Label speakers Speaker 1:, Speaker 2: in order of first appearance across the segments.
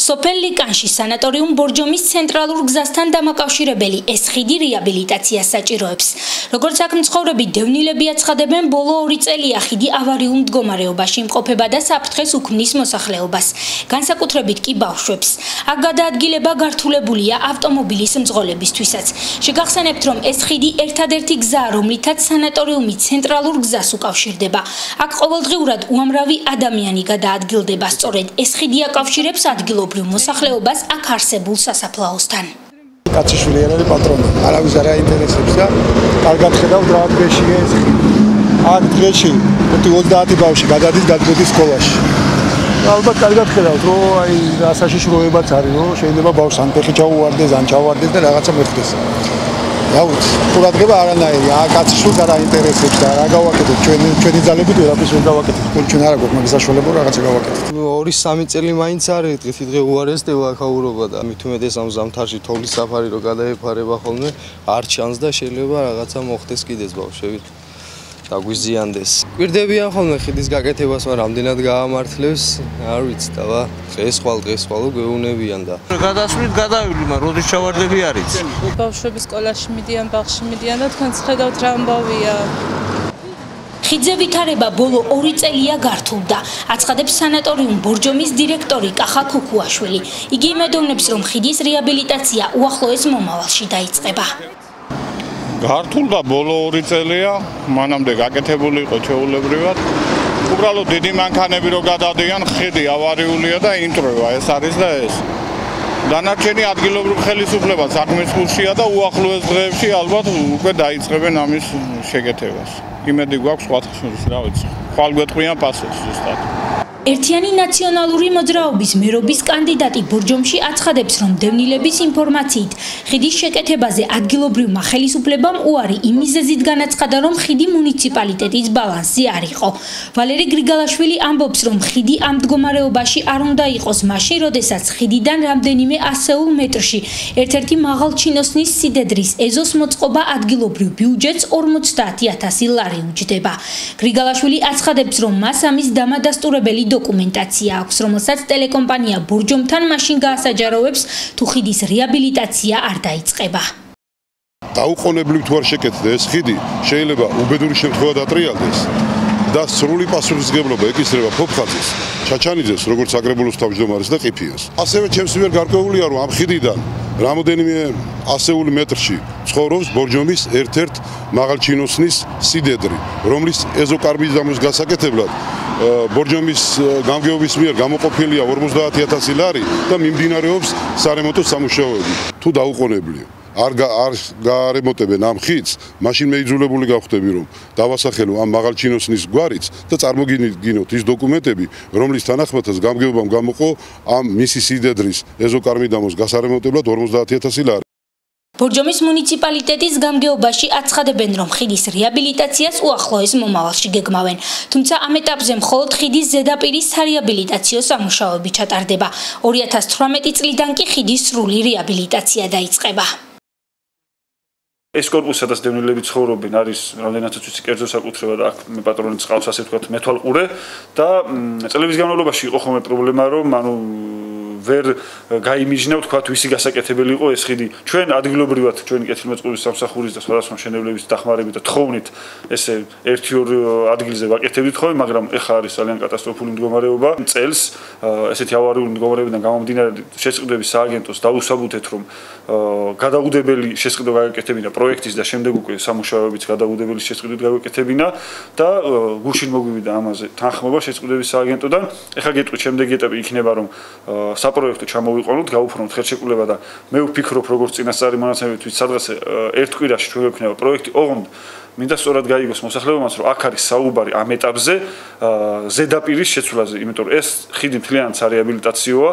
Speaker 1: სოფელ ლიკანში სანატორიუმ ბორჯომის ცენტრალურ გზასთან დამაკავშირებელი ეს ხიდი რეაბილიტაციას საჭიროებს. Როგორც აქ მცხოვრები დევნილები აცხადებენ, ბოლო 2 წელია ხიდი ავარიულ მდგომარეობაში იმყოფება და საფრთხეს უქმნის მოსახლეობას, განსაკუთრებით კი ბავშვებს. აქ გადაადგილება გართულებულია ავტომობილის მძღოლებისთვისაც. შეგახსენებთ, რომ ეს ხიდი ერთადერთი გზაა, რომლითაც სანატორიუმი ცენტრალურ გზას უკავშირდება. აქ ყოველდღიურად უამრავი ადამიანი გადაადგილდება, სწორედ ეს ხიდი აკავშირებს ადგილობრივ მოსახლეობას აქ არსებულ სასაფლაოსთან.
Speaker 2: კაციშვილი არის პატრონი, არავის არ აინტერესებს და კარგად ხედავთ რა დღეშია ეს ხიდი. აქ დღეში 30 ბავშვი გადადის გადმოდის სკოლაში. ალბათ კარგად ხედავთ, რომ აი საშიშროებაც არის, რომ შეიძლება ბავშვს ან ფეხი ჩაუვარდეს, ან ჩავარდეს და რაღაცა მეხდეს. Jauts, ყურადღება არანაირი, კაციშვილს არ აინტერესებს და რა გავაკეთეთ, ჩვენი ძალებით ვერაფერს ვერ გავაკეთეთ, ჩვენ არ აქვს მაგის საშუალება რაღაცა გავაკეთეთ.
Speaker 3: 2-3 წელი მაინც არის, დღე უარესდება აქაურობა და მით უმეტეს ამ ზამთარში თოვლის საფარი რო გადაეფარება ხოლმე, არ ჩანს და შეიძლება რაღაცა მოხდეს კიდეც ბავშვებით. დაგვიზიანდეს. გვირდებიან ხოლმე ხიდის გაკეთებას, მაგრამ რამდენად გაამართლებს, არ ვიცი და დღეს ხვალ გვეუბნებიან და
Speaker 4: გადასვლით გადავილი, მაგრამ როდის ჩავარდები არის.
Speaker 5: ბავშვები სკოლაში მიდიან, ბაღში მიდიან და თქვენც ხედავთ რა ამბავია.
Speaker 1: ხიდზე ვითარება ბოლო 2 წელია გართულდა, აცხადებს სანატორიუმ ბორჯომის დირექტორი კახა ქუქუაშვილი. იგი იმედოვნებს, რომ ხიდის რეაბილიტაცია უახლოეს მომავალში დაიწყება.
Speaker 6: გართულდა ბოლო 2 წელია, მანამდე გაკეთებული იყო ჩვეულებრივად. უბრალოდ დიდი მანქანები რო გადადიან, ხიდი ავარიულია და ინტროვა ეს არის და ეს. დანარჩენი ადგილობრივ ხელისუფლებას საქმის კურსია და უახლოეს დღეებში ალბათ უკვე დაიწყებენ ამის შეკეთებას. იმედი გვაქვს სხვათხშორის, რა ვიცი. ხვალ გვეტყვიან პასუხს ზუსტად. ერთიანი ნაციონალური მოძრაობის მერობის კანდიდატი ბორჯომში აცხადებს, რომ დევნილების ინფორმაციით ხიდის შეკეთებაზე ადგილობრივმა ხელისუფლებამ უარი იმ მიზეზით განაცხადა, რომ ხიდი მუნიციპალიტეტის ბალანსზე არ იყო. ვალერი გრიგალაშვილი ამბობს, რომ ხიდი ამ მდგომარეობაში არ უნდა იყოს მაშინ, როდესაც ხიდიდან რამდენიმე ასეულ მეტრში ერთ-ერთი მაღალჩინოსნის სიდედრის ეზოს მოწყობა ადგილობრივ ბიუჯეტს 50,000 ლარი უჯდება. გრიგალაშვილი აცხადებს, რომ მას ამის დამადასტურებელი დოკუმენტაცია აქვს, რომელსაც ტელეკომპანია ბორჯომთან მაშინ გაასაჯაროვებს, თუ ხიდის რეაბილიტაცია არ დაიწყება.
Speaker 7: დაუყოვნებლივ თუ არ შეკეთდეს ხიდი, შეიძლება უბედური შემთხვევა დატრიალდეს და სრული პასუხისმგებლობა ეკისრება ფოფხაძის, ჩაჩანიძეს, როგორც აგრებულოს თავმჯდომარეს და ყიფიას. ასევე ჩემს მიერ გარკვეულია, რომ ამ ხიდიდან რამოდენიმე ასეული მეტრში ცხოვრობს ბორჯომის ერთ-ერთ მაღალჩინოსნის სიდედრი, რომლის ეზოკარბიდამის გასაკეთებლად ბორჯომის გამგეობის მიერ გამოყოფილია 50,000 ლარი და მიმდინარეობს სარემონტო სამუშაოები. თუ დაუყოვნებლია არ გაარემონტებენ ამ ხიდს, მაშინ მეიძულებული გავხდები, რომ დავასახელო ამ მაღალჩინოსნის გვარიც და წარმოგიდგინოთ ის დოკუმენტები, რომლის თანახმადაც გამგეობამ გამოყო ამ მისი სიდედრის ეზოკარბიდამოს გასარემონტებლად 50,000 ლარი.
Speaker 1: ბორჯომის მუნიციპალიტეტის გამგეობაში აცხადებენ, რომ ხიდის რეაბილიტაციას უახლოეს მომავალში გეგმავენ. თუმცა ამ ეტაპზე მხოლოდ ხიდის ზედაპირის სარეაბილიტაციო სამუშაოები ჩატარდება. 2018 წლიდან კი ხიდის სრული რეაბილიტაცია დაიწყება.
Speaker 8: ეს კორპუსი, სადაც დევნილები ცხოვრობენ, არის რამდენადაც ვიცი კერძო საკუთრება და აქ მე პატრონიც ყავს, ასე ვთქვათ, მეთვალყურე და წლების განმავლობაში იყო ხოლმე პრობლემა, რომ ვერ გაიმიჯნა ვთქვათ ვისი გასაკეთებელი იყო ეს ხიდი. ჩვენ ადგილობრივად ჩვენი კეთილმოწყობის სამსახურის და სხვადასხვა მშენებლების დახმარებით და თხოვნით ესე 1-2 ადგილზე ვაკეთებდით ხოლმე, მაგრამ ეხლა არის ძალიან კატასტროფული მდგომარეობა. წელს ესეთი ავარიული მდგომარეობიდან გამომდინარე შესყიდვების სააგენტოს დაუსაბუთეთ, რომ გადაუდებელი შესყიდვა გააკეთებინა პროექტის და შემდეგ უკვე სამუშაოებიც გადაუდებელი შესყიდვით გააკეთებინა და გუშინ მოგვივიდა ამაზე თანხმობა შესყიდვების სააგენტოდან. ეხლა გეტყვით შემდეგი ეტაპი იქნება, რომ საპროექტო ჩამოვიყვანოთ, გავუფრთხილოთ ხელშეკრულება და მე ვფიქრობ, როგორც წინასწარი მონაცემებით, სადღაც ერთ კვირაში ჩვენ გვექნება პროექტი, ოღონდ მინდა სწორად გაიგოს მოსახლეობამ, რომ აქ არის საუბარი ამ ეტაპზე ზედაპირის შეცვლაზე, იმიტომ რომ ეს ხიდი მთლიანად სარეაბილიტაციოა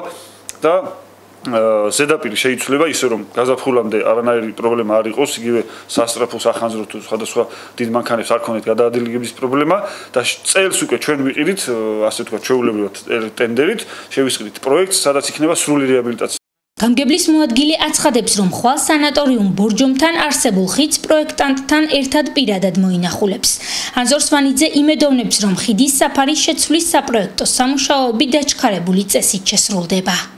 Speaker 8: და ზედაპირი შეიცვლება ისე, რომ გაზაფხულამდე არანაირი პრობლემა არ იყოს, იგივე სასტრაფო სახანძრო თუ სხვადასხვა დიდ მანქანებს არ ქონდეთ გადაადგილების პრობლემა და წელს უკვე ჩვენ ვიყიდით, ასე ვთქვათ, ჩვეულებრივად ტენდერით, შევისყიდით პროექტს, სადაც იქნება სრული რეაბილიტაცია.
Speaker 1: გამგებლის მოადგილე აცხადებს, რომ ხვალ სანატორიუმ ბორჯომთან არსებულ ხიდს პროექტანტთან ერთად პირადად მოინახულებს. ანზორ სვანიძე იმედოვნებს, რომ ხიდის საფარის შეცვლის საპროექტო სამუშაოები დაჩქარებული წესით შესრულდება.